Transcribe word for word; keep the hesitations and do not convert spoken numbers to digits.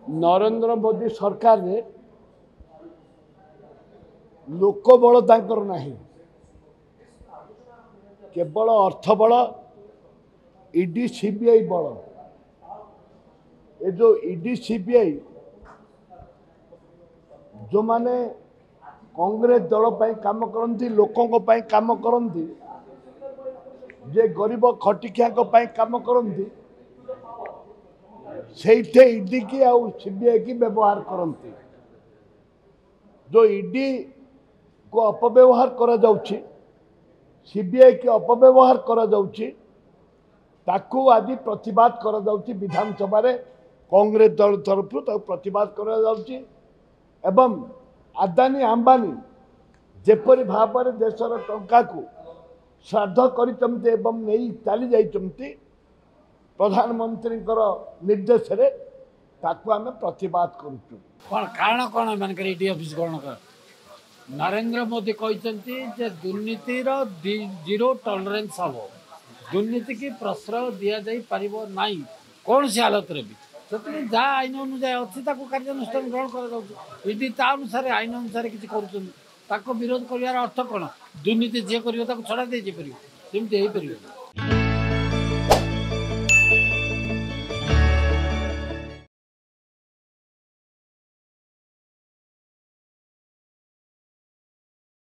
ନରେନ୍ଦ୍ର ମୋଦି ସରକାରରେ ଲୋକବଳ ତାଙ୍କର ନାହିଁ, କେବଳ ଅର୍ଥବଳ, ଇଡି ସିବିଆଇ ବଳ। ଏ ଯେଉଁ ଇଡି ସିବିଆଇ, ଯେଉଁମାନେ କଂଗ୍ରେସ ଦଳ ପାଇଁ କାମ କରନ୍ତି, ଲୋକଙ୍କ ପାଇଁ କାମ କରନ୍ତି, ଯେ ଗରିବ ଖଟିଖିଆଙ୍କ ପାଇଁ କାମ କରନ୍ତି, ସେଇଠି ଇଡି କି ଆଉ ସିବିଆଇ କି ବ୍ୟବହାର କରନ୍ତି। ଯେଉଁ ଇଡି କୁ ଅପବ୍ୟବହାର କରାଯାଉଛି, ସିବିଆଇ କି ଅପବ୍ୟବହାର କରାଯାଉଛି, ତାକୁ ଆଜି ପ୍ରତିବାଦ କରାଯାଉଛି ବିଧାନସଭାରେ। କଂଗ୍ରେସ ଦଳ ତରଫରୁ ତାକୁ ପ୍ରତିବାଦ କରାଯାଉଛି। ଏବଂ ଆଦାନୀ ଆମ୍ବାନୀ ଯେପରି ଭାବରେ ଦେଶର ଟଙ୍କାକୁ ଶ୍ରାଦ୍ଧ କରିଛନ୍ତି ଏବଂ ନେଇ ଚାଲି ଯାଇଛନ୍ତି ପ୍ରଧାନମନ୍ତ୍ରୀଙ୍କର ନିର୍ଦ୍ଦେଶରେ, ତାକୁ ଆମେ ପ୍ରତିବାଦ କରୁଛୁ। କ'ଣ କାରଣ କ'ଣ ଏମାନଙ୍କର ଇଡି ଅଫିସ ଗ୍ରହଣ କର? ନରେନ୍ଦ୍ର ମୋଦି କହିଛନ୍ତି ଯେ ଦୁର୍ନୀତିର ଜିରୋ ଟଲରେନ୍ସ ହେବ, ଦୁର୍ନୀତିକି ପ୍ରଶ୍ରୟ ଦିଆଯାଇ ପାରିବ ନାହିଁ କୌଣସି ହାଲତରେ ବି। ସେଥିପାଇଁ ଯାହା ଆଇନ ଅନୁଯାୟୀ ଅଛି ତାକୁ କାର୍ଯ୍ୟାନୁଷ୍ଠାନ ଗ୍ରହଣ କରାଯାଉଛି। ଇଡି ତା ଅନୁସାରେ, ଆଇନ ଅନୁସାରେ କିଛି କରୁଛନ୍ତି। ତାକୁ ବିରୋଧ କରିବାର ଅର୍ଥ କ'ଣ? ଦୁର୍ନୀତି ଯିଏ କରିବ ତାକୁ ଛଡ଼ା ଦେଇଯାଇପାରିବ? ସେମିତି ହେଇପାରିବ?